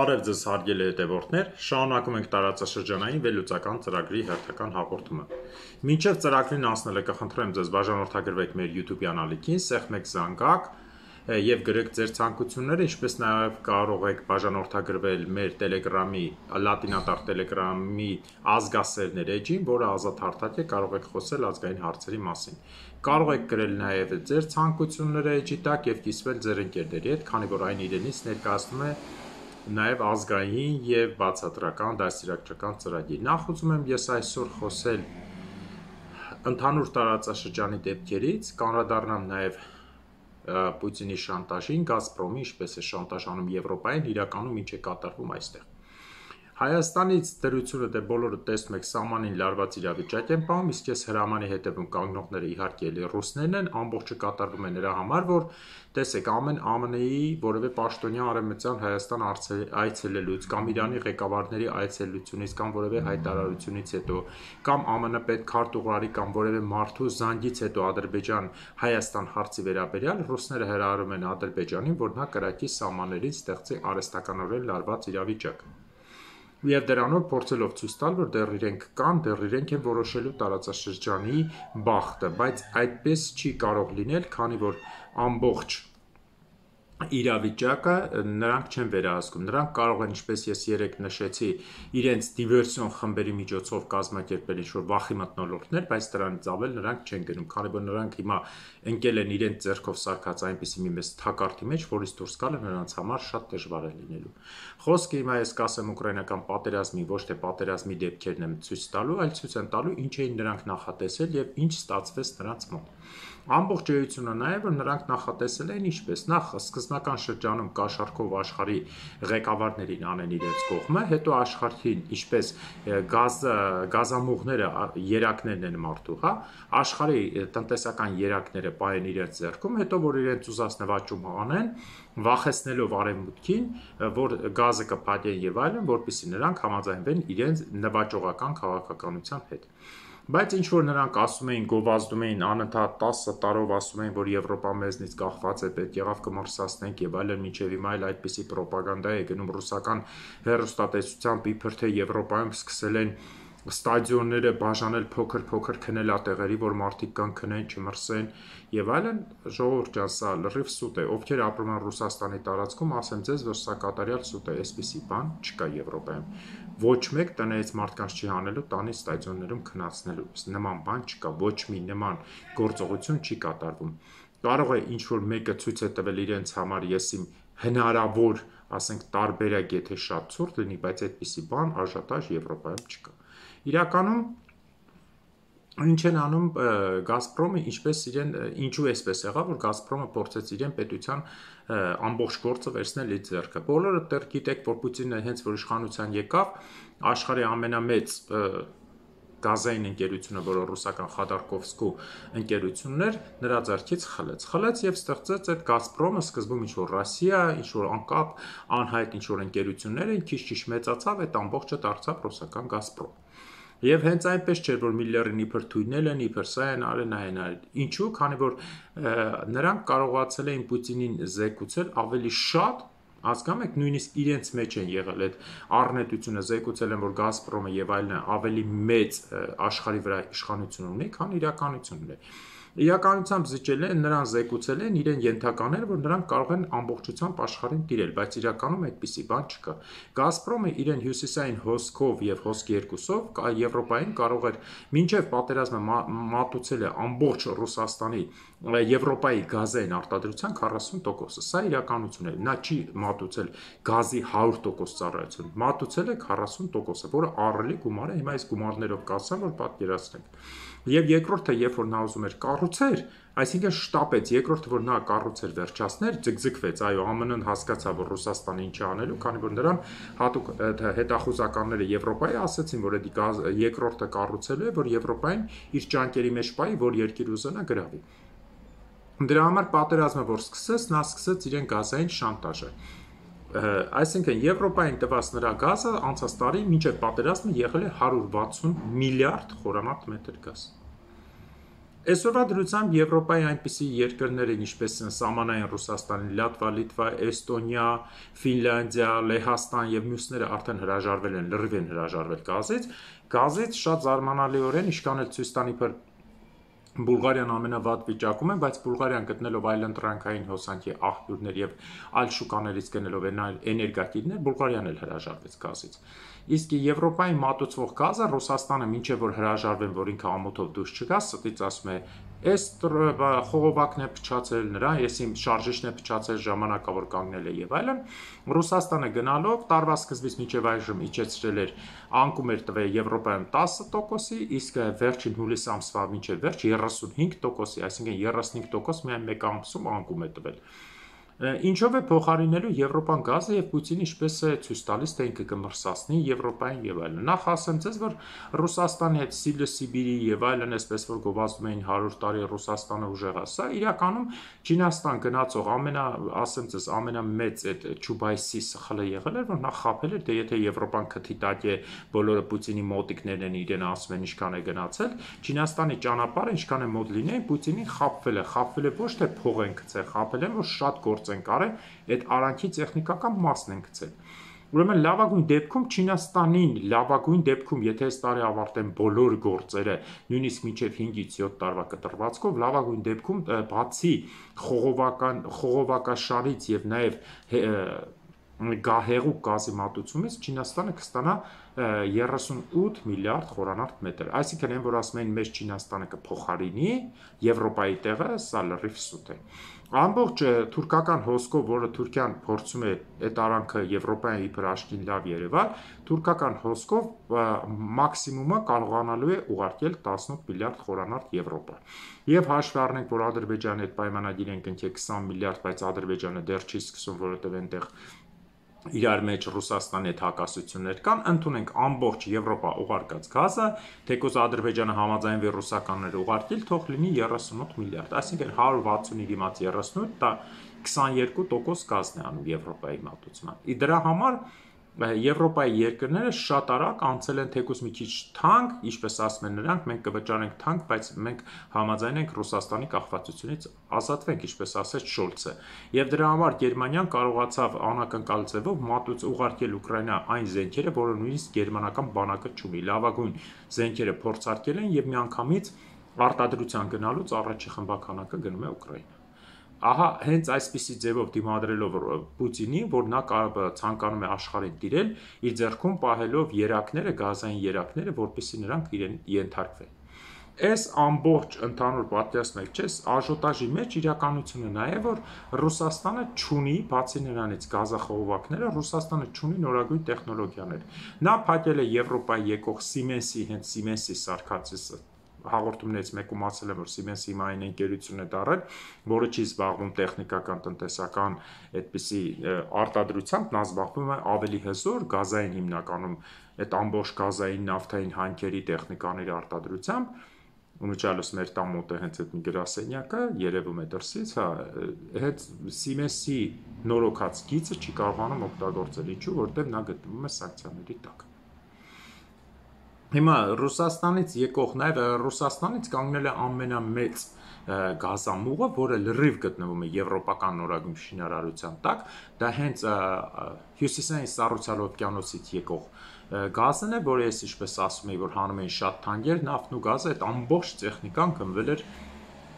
Բարև ձեզ հարգելի հետևորդներ, շարունակում ենք տարածաշրջանային վերլուծական ծրագրի հերթական հաղորդումը։ Մինչև ծրագրին անցնելը կխնդրեմ ձեզ բաժանորդագրվեք մեր YouTube-յան ալիքին, սեղմեք զանգակ եւ գրեք ձեր ցանկությունները, ինչպես նաեւ կարող եք բաժանորդագրվել մեր Telegram-ի, լատինատար Telegram-ի ազգասերներ էջին, որը ազատ հարթակ է, կարող եք խոսել ազգային հարցերի մասին։ Կարող եք գրել նաեւ ձեր ցանկությունները էջի տակ եւ կիսվել ձեր ընկերների հետ, քանի որ այն իրենից ներկայացնում է նաև ազգային եւ բացատրական դաստիարակչական ծրագիր։ Նախ ուզում եմ ես այսօր խոսել ընդհանուր տարածաշրջանի դեպքերից, կանրադառնամ նաև Պուտինի շանտաժին, Գազպրոմի ինչպես է շանտաժանում Եվրոպային, իրականում ինչ է կատարվում այստեղ։ Հայաստանից դրությունը դե բոլորը տեսնում եք սահմանին լարված իրավիճակ են պահում, իսկ ես հրամանի հետևում կանգնողները իհարկե էլի ռուսներն են, ամբողջը կատարվում է նրա համար, որ տեսեք ամեն ԱՄՆ-ի որևէ պաշտոնյա արևմտյան Հայաստան այցելելուց կամ Իրանի ղեկավարների այցելությունից կամ որևէ հայտարարությունից հետո կամ ԱՄՆ պետքարտուղարի կամ որևէ մարդու զանգից հետո Ադրբեջան Հայաստան հարցի վերաբերյալ ռուսները հրահրում են Ադրբեջանին, որ նա կրակի սահմաններից ստեղծի արհեստականորեն լարված իրավիճակ։ Եվ դրանով փորձելով ցույց տալ, որ դեռ իրենք կան, դեռ իրենք են որոշելու տարածաշրջանի բախտը, բայց այդպես չի կարող լինել, քանի որ ամբողջ իրավիճակը նրանք չեն վերահսկում, նրանք կարող են, ինչպես ես երեք նշեցի, իրենց դիվերսիոն խմբերի միջոցով կազմակերպել ինչ-որ վախի մթնոլորտներ, բայց դրանից ավել նրանք չեն գնում, քանի որ նրանք հիմա ընկել են իրենց ձեռքով սարքած այնպիսի մի մեծ թակարդի մեջ, որից դուրս գալը նրանց համար շատ դժվար է լինելու։ Խոսքը հիմա ես կասեմ ուկրաինական պատերազմի, ոչ թե պատերազմի դեպքերն եմ ցույց տալու, այլ ցույց են տալու ինչ էին նրանք նախատեսել եւ ինչ ստացվեց նրանց մոտ։ Ամբողջ էությունը նա է, որ նրանք նախատեսել էին ինչպես, նախ սկզբնական շրջանում կաշառքով աշխարհի ղեկավարներին անեն իրենց կողմը, հետո աշխարհին ինչպես գազամուղները երակներն են մարդու, հա, աշխարհի տնտեսական երակները պահեն իրենց ձեռքում, հետո որ իրենց ուզած նվաճում անեն, վախեցնելով արևմուտքին, որ գազը կփակեն եւ այլն, որպեսզի նրանք համաձայնվեն իրենց նվաճողական քաղաքականության հետ։ Բայց ինչ որ նրանք ասում էին, գովազդում էին անընդհատ 10 տարով ասում էին, որ Եվրոպա մեզնից կախված է, պետք եղավ կմրսացնենք եւ այլն, մինչեւ հիմա այլ այդպիսի ռոպագանդա է գնում ռուսական հեռուստատեսությամբ, իբր թե Եվրոպայում սկսել են ստադիոնները բաժանել փոքր քնելատեղերի, որ մարդիկ կան քնեն, չմրսեն եւ այլն, ժողովուրդ ջան, սա լրիվ սուտ է, ովքեր ապրում են Ռուսաստանի տարածքում, ասեմ ձեզ, որ սա կատարյալ սուտ է, այսպիսի բան չկա Եվրոպայում։ Ոչ մեկ տնից մարդկանց չի հանելու տանի ստադիոններում քնացնելու, նման բան չկա, ոչ մի նման գործողություն չի կատարվում։ Կարող է ինչ որ մեկը ցույց է տվել իրենց համար, ես իմ հնարավոր, ասենք, տարբերակ, եթե շատ ցուրտ լինի, բայց այդպիսի բան արժանտաժ Եվրոպայում չկա։ Իրականում ինչ են անում Գազպրոմը, ինչպես իրեն, ինչու էսպես եղավ, որ Գազպրոմը փորձեց իրեն պետության ամբողջ գործը վերցնել իր ձեռքը։ Բոլորը դեռ գիտեք, որ Պուտինը հենց որ իշխանության եկավ, աշխարհի ամենամեծ գազային ընկերությունը, որը ռուսական Խադարկովսկու ընկերությունն էր, նրա ձեռքից խլեց եւ ստեղծեց այդ Գազպրոմը, սկզբում ինչ որ Ռոսիա, ինչ որ անկապ անհայտ ինչ որ ընկերություններ են, քիչ մեծացավ, այդ ամբողջը դարձավ ռուսական Գազպրոմ։ Եվ հենց այնպես չէր, որ Միլլերին իբր թույնել են, իբր սա են արել, այն արել։ Ինչու՞, քանի որ նրանք կարողացել էին Պուտինին զեկուցել ավելի շատ, հասկանում եք, նույնիսկ իրենց մեջ են եղել այդ առնետությունը, զեկուցել են, որ Գազպրոմը եւ այլն ավելի մեծ աշխարհի վրա իշխանություն ունի, քան իրականությունն է։ Իրականությամբ զիջել են, նրան զեկուցել են իրեն ենթականել, որ նրանք կարող են ամբողջությամբ աշխարհին տիրել, բայց իրականում այդպիսի բան չկա։ Գազպրոմը իրեն հյուսիսային հոսքով եւ հոսք երկուսով Եվրոպային կարող էր մինչեւ պատերազմը մատուցել է ամբողջ Ռուսաստանի Եվրոպայի գազային արտադրության 40%-ը։ Սա իրականություն է։ Նա չի մատուցել գազի 100% ծառայություն, մատուցել է 40%-ը, որը ահռելի գումար է, հիմա այս գումարներով կասեմ, որ պատկերացնենք։ Եվ երկրորդը, երբ որ նա ուզում էր կառուցել, այսինքն շտապեց, երկրորդը, որ նա կառուցել վերջացներ, ձգձգվեց, այո, ԱՄՆ-ն հասկացավ, որ Ռուսաստանը ինչ է անելու, քանի որ նրան հատուկ հետախուզականները Եվրոպայի ասացին, որ այդ երկրորդը կառուցելու է, որ Եվրոպային իր ջանքերի մեջ պայի, որ երկիր ուզենա գրավի։ Դրա համար պատերազմը, որ սկսեց, նա սկսեց իրեն գազային շանտաժը։ Այսինքն Եվրոպային տված նրա գազը անցած տարի մինչև պատերազմը եղել է 160 միլիարդ խորանարդ մետր գազ։ Այսօրվա դրությամբ Եվրոպայի այնպիսի երկրներ են, ինչպես են սահմանային Ռուսաստանի, Լատվա, Լիտվա, Էստոնիա, Ֆինլանդիա, Լեհաստան եւ մյուսները արդեն հրաժարվել են, լրիվ են հրաժարվել գազից շատ զարմանալիորեն իշքան էլ ցույց տանի որ Բուլղարիան ամենավատ վիճակում է, բայց Բուլղարիան գտնելով այլընտրանքային հոսանքի աղբյուրներ եւ այլ շուկաներից գնելով էներգակիրներ, Բուլղարիան էլ հրաժարվեց գազից։ Իսկ Եվրոպայի մատուցվող գազը Ռուսաստանը մինչև որ հրաժարվեն, որ ինքը ամոթով դուրս չգա, ստից ասում է, այս խողովակն է փչացել, նրա եսի շարժիչն է փչացել, ժամանակավոր կանգնել է եւ այլն։ Ռուսաստանը գնալով տարվա սկզբից մինչև այժմ իջեցրել էր անկում էր տվել Եվրոպայում 10%-ի, իսկ վերջին հուլիս ամսվա մինչև վերջ 35%-ի, այսինքն 35% միայն մեկ ամսում անկում է տվել։ Ինչով է փոխարինելու Եվրոպան գազը եւ Պուտինը ինչպես է ցույց տալիս, թե ինքը կմրսասնի Եվրոպային եւ այլն։ Նախ ասեմ ձեզ, որ Ռուսաստանի հետ Սիբիրի եւ այլն, այսպես որ գովազդում էին 100 տարի Ռուսաստանը ուժեղա, սա իրականում Չինաստան գնացող ասեմ ձեզ, ամենամեծ այդ Չուբայսի սխալը եղել էր, որ նա խաբել էր, դե եթե Եվրոպան քթի տակ է, բոլորը Պուտինի մոտիկներն են իրեն ասում են ինչքան է գնացել, Չինաստանի ճանապարհը ինչքան է մոտ լինի, Պուտինին խաբվել է ոչ թե փող են գցել, խաբել են, որ շատ գործ են կարել, այդ արանքի տեխնիկական մասն են գցել։ Ուրեմն լավագույն դեպքում Չինաստանին, լավագույն դեպքում, եթե այս տարի ավարտեն բոլոր գործերը, նույնիսկ մինչև 5-ից 7 տարվա կտրվածքով, լավագույն դեպքում բացի խողովակաշարից եւ նաեւ հեղուկ գազի մատուցումից Չինաստանը կստանա 38 միլիարդ խորանարդ մետր։ Այսինքն այն որ ասում են մեծ Չինաստանը կփոխարինի Եվրոպայի տեղը, սա լրիվ սուտ է։ Ամբողջ թուրքական հոսքով, որը Թուրքիան փորձում է այդ արանքը Եվրոպային իբր աշխին լավ երևալ, թուրքական հոսքով մաքսիմումը կարողանալու է ուղարկել 18 միլիարդ խորանարդ Եվրոպա։ Եվ հաշվի առնենք, որ Ադրբեջանի հետ պայմանագիր են կնքել 20 միլիարդ, բայց Ադրբեջանը դեռ չի սկսում, որովհետև այնտեղ իրար մեջ Ռուսաստանի հետ հակասություններ կան, ընդունենք ամբողջ Եվրոպա ուղարկած գազը, թեկուզ Ադրբեջանը համաձայնվի ռուսականները ուղարկել, թող լինի 38 միլիարդ, այսինքն 160-ի դիմաց 38, դա 22% գազն է անում Եվրոպայի մատուցման։ Դրա համար Եվրոպայի երկրները շատ արագ անցել են թեկուզ մի քիչ թանկ, ինչպես ասում են նրանք, մենք կվճարենք թանկ, բայց մենք համաձայն ենք Ռուսաստանի կախվածությունից ազատվենք, ինչպես ասեց Շոլցը։ Եվ դրա համար Գերմանիան կարողացավ անակնկալ ձևով ուղարկել Ուկրաինա այն զենքերը, որը նույնիսկ գերմանական բանակը չունի։ Լավագույն զենքերը փորձարկել են եւ միանգամից արտադրության գնալուց առաջի խմբականակը գնում է Ուկրաինա։ Ահա հենց այսպիսի ձևով դիմադրելով Պուտինին, որ նա ցանկանում է աշխարհին տիրել, իր ձեռքում պահելով երակները, գազային երակները, որպեսզի նրանք իրեն ենթարկվեն։ Այս ամբողջ ընդհանուր պատկերացմեք, չէ՞, աժոտաժի մեջ իրականությունը նա է, որ Ռուսաստանը չունի, բացի նրանից գազախողովակները, Ռուսաստանը չունի նորագույն տեխնոլոգիաներ։ Նա փակել է Եվրոպայի եկող Siemens-ի, հենց Siemens-ի սարքածից հաղորդումներից մեկում ասել եմ, որ Siemens-ի հիմա այն ընկերությունն է դառել, որը չի զբաղվում տեխնիկական, տնտեսական այդպիսի արտադրությամբ, նա զբաղվում է ավելի հզոր գազային հիմնականում այդ ամբողջ գազային նավթային հանքերի տեխնիկաների արտադրությամբ, ունուճալուս մեր տան մոտ է հենց այդ մի գրասենյակը, երևում է դրսից, հա, հետ Siemens-ի նորոգած գիծը չի կարողանում օգտագործել, ինչու, որտեղ նա գտնվում է սանկցիաների տակ։ Հիմա Ռուսաստանից եկող նաև Ռուսաստանից կանգնել է ամենամեծ գազամուղը, որը լրիվ գտնվում է եվրոպական նորագույն շինարարության տակ, դա հենց հյուսիսային Սառուցյալ օվկիանոսից եկող գազն է, որը ես ինչպես ասում էի, որ հանում էին շատ թանկեր, նավթն ու գազը, այդ ամբողջ տեխնիկան գնվել էր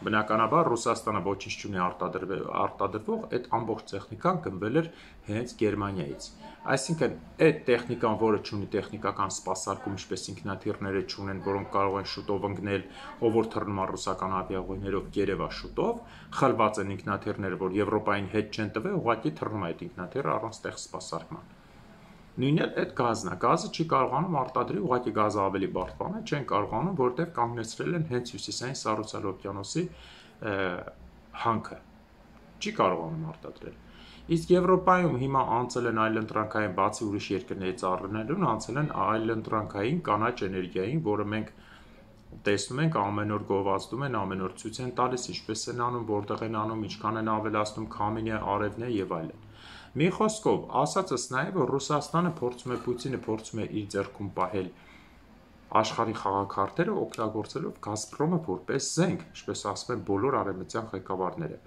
Բնականաբար Ռուսաստանը ոչինչ չունի արտադրվող, այդ ամբողջ տեխնիկան գնվել էր հենց Գերմանիայից։ Այսինքն այդ տեխնիկան, որը չունի տեխնիկական սպասարկում, ինչպես ինքնաթիռները չունեն, որոնք կարող են շուտով ընկնել, ով որ թռնում է ռուսական ավիաուղիներով Կերևա շուտով, խլված են ինքնաթիռները, որ Եվրոպային հետ չեն տվել, ուղղակի թռնում է այդ ինքնաթիռը առանց տեղ սպասարկման։ Նույնն էլ այդ գազն է, գազը չի կարողանում արտադրի, ուղղակի գազը ավելի բարդ բան է, չեն կարողանում, որտեղ կանգնեցրել են հենց հյուսիսային Սառուցյալ օվկիանոսի հանքը, չի կարողանում արտադրել։ Իսկ Եվրոպայում հիմա անցել են այլընտրանքային, բացի ուրիշ երկրներից առնելուն, անցել են այլընտրանքային կանաչ էներգիային, որը մենք տեսնում ենք ամեն օր գովազդում են, ամեն օր ցույց են տալիս, ինչպես են անում, որտեղ են անում, ինչքան են ավելացնում, քամին է, արևն է եւ այլն։ Մի խոսքով, ասածս նա է, որ Ռուսաստանը փորձում է, Պուտինը փորձում է իր ձեռքում պահել աշխարհի խաղաքարտերը օգտագործելով Գազպրոմը որպես զենք, ինչպես ասում են բոլոր արևմտյան ղեկավարները։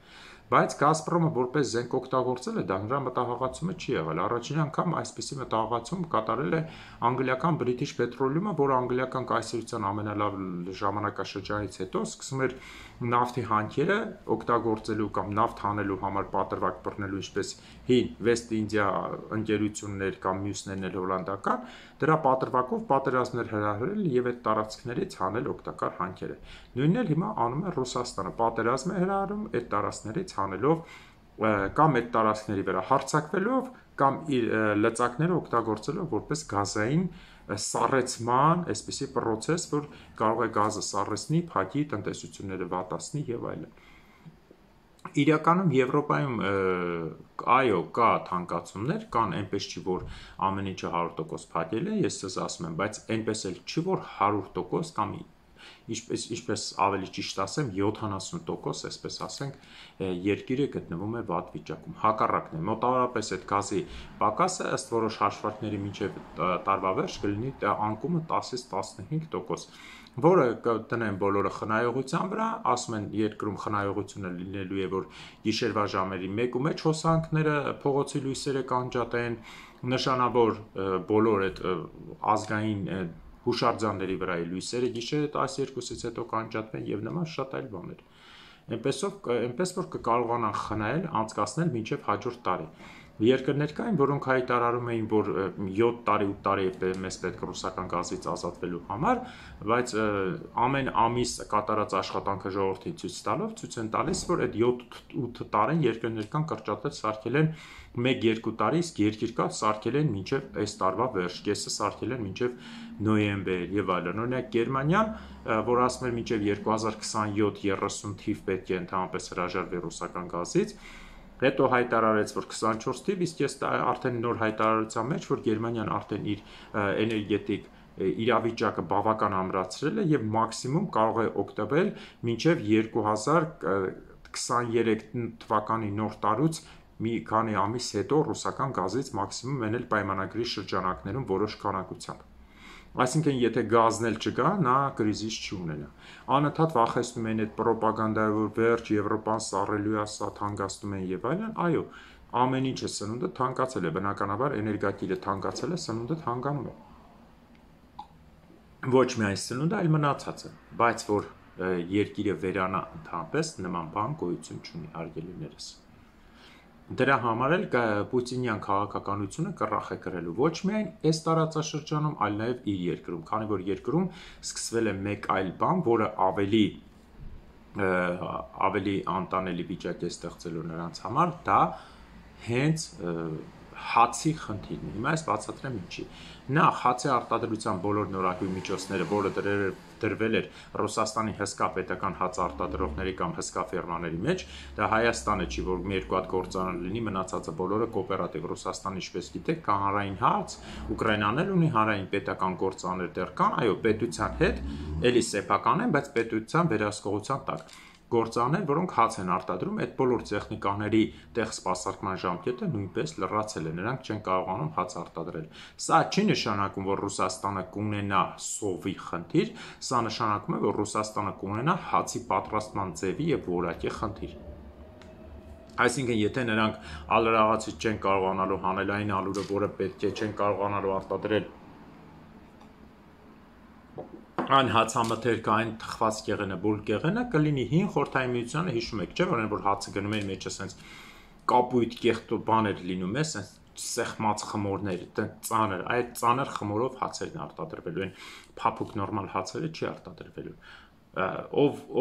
Բայց Գազպրոմը որպես զենք օգտագործել է, դա նրա մտահղացումը չի եղել։ Առաջին անգամ այսպիսի մտահղացում կատարել է անգլիական British Petroleum-ը, որը անգլիական կայսրության ամենալավ ժամանակաշրջանից հետո սկսում էր նավթի հանքերը օգտագործելու կամ նավթ հանելու համար պատրվակ բռնելու, ինչպես հին West India ընկերություններ կամ մյուսներն էլ հոլանդական, դրա պատրվակով պատերազմներ հրահրել եւ այդ տարածքներից հանել օգտակար հանքերը։ Նույնն էլ հիմա անում է Ռուսաստանը, պատերազմ է հրահրում այդ տարածքներից հանելով կամ այդ տարածքների վրա հարձակվելով կամ իր լծակները օգտագործելով որպես գազային սառեցման այսպիսի process, որ կարող է գազը սառեցնի, փակի, տնտեսությունները վատացնի եւ այլն։ Իրականում Եվրոպայում այո կա թանկացումներ, կան այնպես չի, որ ամեն ինչը 100% փակել է, ես ցես ասում եմ, բայց այնպես էլ չի, որ 100% կամ ինչպես ավելի ճիշտ ասեմ 70%, այսպես ասենք, երկիրը գտնվում է վատ վիճակում։ Հակառակն է, մոտավորապես այդ գազի պակասը ըստ որոշ հաշվարկների մինչև տարվա վերջ կլինի անկումը 10-ից 15%, որը կտնեն բոլորը խնայողության վրա, ասում են երկրում խնայողությունը լինելու է, որ գիշերվա ժամերի 1-1 հոսանքները փողոցի լույսերը կանջատեն, նշանավոր բոլոր այդ ազգային հուշարձանների վրա է լույսերը գիշերը 12-ից հետո կանջատվեն եւ նման շատ այլ բաներ։ Այնպես որ կկարողանան խնայել, անցկացնել մինչև հաջորդ տարի։ Երկրներ կային, որոնք հայտարարում էին, որ 7 տարի 8 տարի է մեզ պետք ռուսական գազից ազատվելու համար, բայց ամեն ամիս կատարած աշխատանքը ժողովրդին ցույց տալով ցույց են տալիս, որ այդ 7-8 տարին երկրներ կան կրճատել սարքել են 1-2 տարի, իսկ երկիր կա սարքել են մինչև այս տարվա վերջ, կեսը սարքել են մինչև նոյեմբեր եւ այլն։ Օրինակ Գերմանիան, որ ասում էր մինչև 2027-30 թիվ պետք է ընդհանրապես հրաժարվի ռուսական գազից, հետո հայտարարեց, որ 24 թիվ, իսկ ես արդեն նոր հայտարարության մեջ, որ Գերմանիան արդեն իր էներգետիկ իրավիճակը բավական ամրացրել է եւ մաքսիմում կարող է օգտվել մինչև 2023 թվականի նոր տարուց մի քանի ամիս հետո ռուսական գազից մաքսիմում մենել պայմանագրի շրջանակներում որոշ քանակությամբ։ Այսինքն, եթե գազն էլ չկա, նա կրիզիս չի ունենա։ Անընդհատ վախեցնում են այդ պրոպագանդայով, որ վերջ Եվրոպան սառելու է, սա թանկացնում են եւ այլն, այո, ամեն ինչը սնունդը թանկացել է, բնականաբար էներգակիրը թանկացել է, սնունդը թանկանում է։ Ոչ միայն սնունդը, այլ մնացածը, բայց որ երկիրը վերանա ընդհանրապես նման բան գոյություն չունի, հարգելիներս։ Դրա համար էլ Պուտինյան քաղաքականությունը կռախ է կրելու ոչ միայն այս տարածաշրջանում, այլ նաև իր երկրում, քանի որ երկրում սկսվել է մեկ այլ բան, որը ավելի անտանելի վիճակ է ստեղծելու նրանց համար, դա հենց հացի խնդիրն է։ Հիմա ես բացատրեմ ինչի։ Նախ հացի արտադրության բոլոր նորագույն միջոցները, որը դրվել էր Ռուսաստանի հսկա պետական հաց արտադրողների կամ հսկա ֆերմաների մեջ, դա Հայաստանը չի, որ մի երկու հատ գործարան լինի, մնացածը բոլորը կոոպերատիվ։ Ռուսաստանը, ինչպես գիտեք, կա հանրային հաց, Ուկրաինան էլ ունի հանրային պետական գործարաններ դեռ կան, այո, պետության հետ էլի սեփական են, բայց պետության վերահսկողության տակ գործարաններ, որոնք հաց են արտադրում, այդ բոլոր տեխնիկաների տեղ սպասարկման ժամկետը նույնպես լրացել է, նրանք չեն կարողանում հաց արտադրել։ Սա չի նշանակում, որ Ռուսաստանը կունենա սովի խնդիր, սա նշանակում է, որ Ռուսաստանը կունենա հացի պատրաստման ձևի եւ որակի խնդիր։ Այսինքն, եթե նրանք ալրաղացից չեն կարողանալու հանելային ալուրը, որը պետք է չեն կարողանալու արտադրել այն հացամթերքը, այն թխված կեղենը, բուլ կեղենը կլինի հին խորհրդային միությանը, հիշում եք, չէ՞, որ հացը գնում էր մեջը սենց կապույտ կեղտո բաներ լինում է, սենց սեղմած խմորներ, ծանր, այդ ծանր խմորով հացերն արտադրվելու են, փափուկ նորմալ հացերը չի արտադրվելու։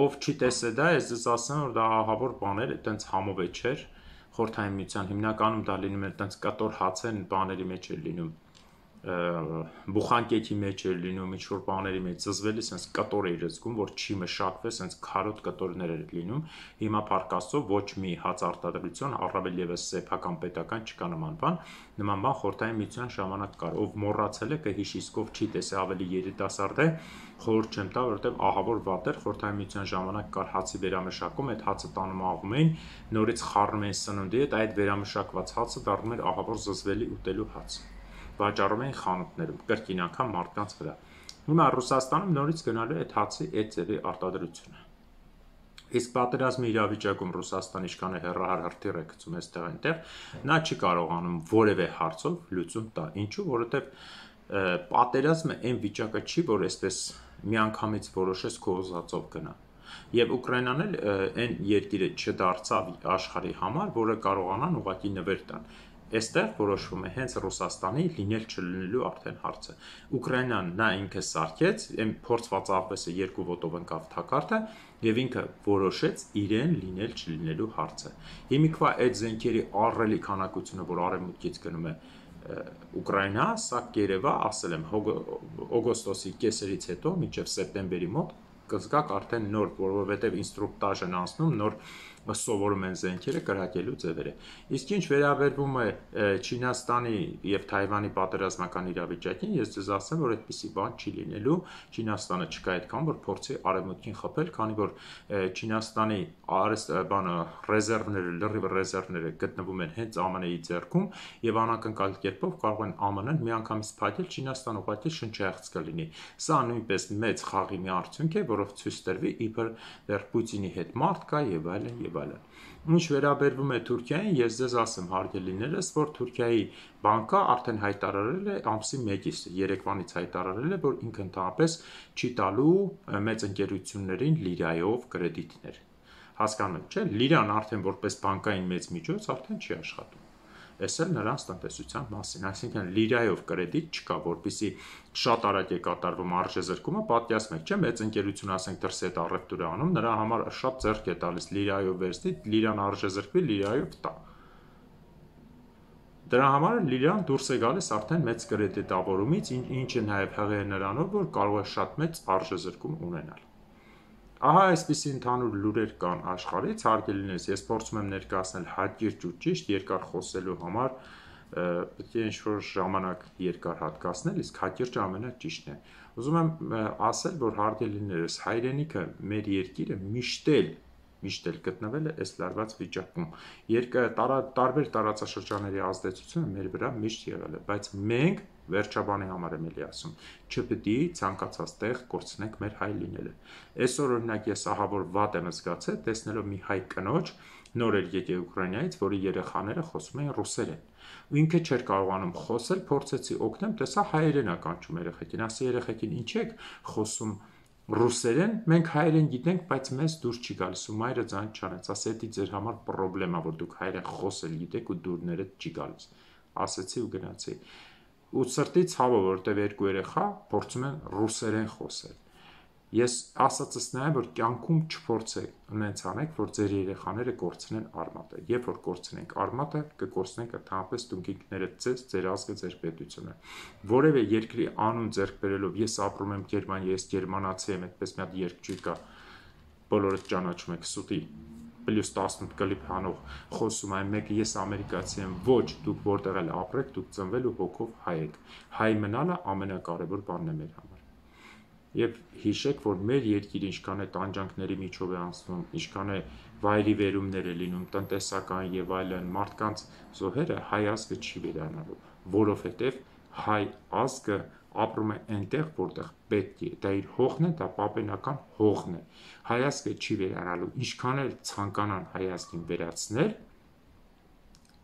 Ով չի տեսել դա, ես ձեզ ասեմ, որ դա ահավոր բաներ, այտենց համով է չէր, խորհրդային միության հիմնականում դա լինում է այտենց կտոր հացեն բաների մեջ է լինում, բուխանկեքի մեջ էր լինում, ինչ-որ բաների մեջ զզվելի, սենց կտոր էր զգում, որ չի մշակվել, սենց քարոտ կտորներ էր լինում, հիմա փառք Աստծո ոչ մի հաց արտադրություն, առավել ևս սեփական պետական չկա նման բան խորհրդային միության ժամանակ կար, ով մոռացել է կհիշի, իսկ ով չի տեսել ավելի երիտասարդ է, խորհուրդ չեմ տա, որովհետև ահավոր վատ էր, խորհրդային միության ժամանակ կար հացի վերամշակում, այդ հացը տանում աղում էին, նորից խառնում էին սնունդի հետ, այդ վերամշակված հացը դառնում էր ահավոր զզվելի ուտելու հաց։ Վաճառում էին խանութներում, կրկին անգամ մարդկանց վրա։ Հիմա Ռուսաստանում նորից գնալու է այդ հացի այդ ձևի արտադրությունը։ Իսկ պատերազմի իրավիճակում Ռուսաստանի իշխանը հեռահար հրթիռ է գցում այստեղ այնտեղ, նա չի կարողանում որևէ հարցով լուծում տա։ Ինչու՞, որովհետև պատերազմը այն վիճակը չի, որ այսպես միանգամից որոշես քո ուզածով գնա։ Եվ Ուկրաինան էլ այն երկիրը չդարձավ աշխարհի համար, որը կարողանան ուղղակի նվեր տան։ Այստեղ որոշվում է հենց Ռուսաստանի լինել չլինելու արդեն հարցը։ Ուկրաինան նա ինքը սարքեց, այն փորձված աղվեսը երկու ոտով ընկավ թակարդը եւ ինքը որոշեց իրեն լինել չլինելու հարցը։ Հիմիկվա այդ զենքերի ահռելի քանակությունը, որ արևմուտքից գնում է Ուկրաինա, սա կերևա, ասել եմ, օգոստոսի կեսերից հետո մինչև սեպտեմբերի մոտ կզգաք արդեն նոր, որովհետև ինստրուկտաժ են անցնում, նոր սովորում են զենքերը կրակելու ձևերը։ Իսկ ինչ վերաբերվում է Չինաստանի եւ Թայվանի պատերազմական իրավիճակին, ես ձեզ ասեմ, որ այդպիսի բան չի լինելու, Չինաստանը չկա այդքան, որ փորձի արևմուտքին խփել, քանի որ Չինաստանի ռեզերվները, լրիվ ռեզերվները գտնվում են հենց ԱՄՆ-ի ձեռքում եւ անակնկալ կերպով կարող են ԱՄՆ-ն միանգամից փակել Չինաստան ուղղակի շնչահեղձ կլինի։ Սա նույնպես մեծ խաղի մի արդյունք է, որով ցույց տրվի իբր դեռ Պուտինի հետ մարդ կա եւ այլն եւ այլն։ Ինչ վերաբերվում է Թուրքիային, ես ձեզ ասեմ հարգելիներս, որ Թուրքիայի բանկը արդեն հայտարարել է ամսի 1-ից երեկվանից հայտարարել է, որ ինքը ընդհանրապես չի տալու մեծ ընկերություններին լիրայով կրեդիտներ։ Հասկանում եք, չէ՞, լիրան արդեն որպես բանկային մեծ միջոց արդեն չի աշխատում։ Այս էլ նրանց տնտեսության մասին, այսինքն լիրայով կրեդիտ չկա, որպեսզի շատ արագ է կատարվում արժեզրկումը, պատկերացնեք, չէ՞, մեծ ընկերություն, ասենք, դրսի հետ առևտուր է անում, նրա համար շատ ձեռք է տալիս լիրայով վերցնի, լիրան արժեզրկվի, լիրայով տա։ Դրա համար լիրան դուրս է գալիս արդեն մեծ կրեդիտավորումից, ինչը նաև հղի է նրանով, որ կարող է շատ մեծ արժեզրկում ունենալ։ Ահա այսպիսի ընդհանուր լուրեր կան աշխարհից, հարգելիներս, ես փորձում եմ ներկայացնել հակիրճ ու ճիշտ, երկար խոսելու համար պետք է ինչ-որ ժամանակ երկար հատկացնել, իսկ հակիրճը ամենաճիշտն է։ Ուզում եմ ասել, որ հարգելիներս, հայրենիքը, մեր երկիրը միշտ էլ գտնվել է այս լարված վիճակում։ Տարբեր տարածաշրջանների ազդեցությունը մեր վրա միշտ եղել է, բայց մենք վերջաբանի համար եմ էլի ասում, չպետք է ցանկացած տեղ կորցնենք մեր հայ լինելը։ Այսօր օրինակ ես ահա որ վատ եմ զգացել, տեսնելով մի հայ կնոջ, նոր էր եկել Ուկրաինայից, որի երեխաները խոսում էին ռուսերեն։ Ու ինքը չէր կարողանում խոսել, փորձեցի օգնեմ, տեսա հայերեն է կանչում երեխեքին, ասի երեխեքին ինչ եք խոսում ռուսերեն, մենք հայերեն գիտենք, բայց մեզ դուր չի գալիս ու մայրը ձայն չանեց, ասի դա ձեր համար պրոբլեմա, որ դուք հայերեն խոսել գիտեք ու դուրները չի գալիս։ Ասեցի ու գնացի։ Ու սրտի ցավը, որտեղ երկու երեխա փորձում են ռուսերեն խոսել։ Ես ասածս նա է, որ կյանքում չփորձեք նենց անեք, որ ձեր երեխաները կորցնեն արմատը։ Երբ որ կորցնենք արմատը, կկորցնենք ընդհանրապես դուք ինքներդ ձեզ, ձեր ազգը, ձեր պետությունը։ Որևէ երկրի անուն ձեռք բերելով ես ապրում եմ Գերմանիայում, ես գերմանացի եմ, այդպես մի հատ երգ կա, բոլորը ճանաչում եք, սուտի +18 կլիպ հանող խոսում այն մեկը, ես ամերիկացի եմ, ոչ, դուք որտեղ էլ ապրեք, դուք ծնվել ու հոգով հայ եք։ Հայ մնալը ամենակարևոր բանն է մեր համար։ Եվ հիշեք, որ մեր երկիրը ինչքան է տանջանքների միջով է անցնում, ինչքան է վայրի վերումներ է լինում, տնտեսական եւ այլն, մարդկանց զոհերը հայ ազգը չի վերանալու, որովհետեւ հայ ազգը ապրում է այնտեղ, որտեղ պետք է, դա իր հողն է, դա պապենական հողն է։ Հայ ազգը չի վերանալու, ինչքան էլ ցանկանան հայ ազգին վերացնել,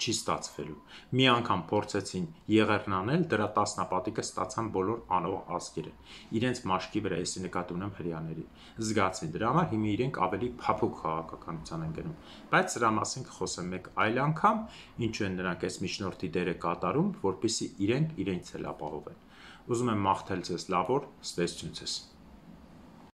չի ստացվելու։ Մի անգամ փորձեցին եղերն անել, դրա տասնապատիկը ստացան բոլոր անող ազգերը։ Իրենց մաշկի վրա էսի նկատի ունեմ հрьяաներին։ Զգացին դրա համար հիմա իրենք ավելի փափուկ քաղաքականության են գնում։ Բայց սրա մասին կխոսեմ մեկ այլ անգամ, ինչու են նրանք այս միջնորդի դերը կատարում, որպեսզի իրենք իրենց էլ ապահովեն։ Ուզում եմ մաղթել ձեզ լավ օր, ստեսություն ձեզ։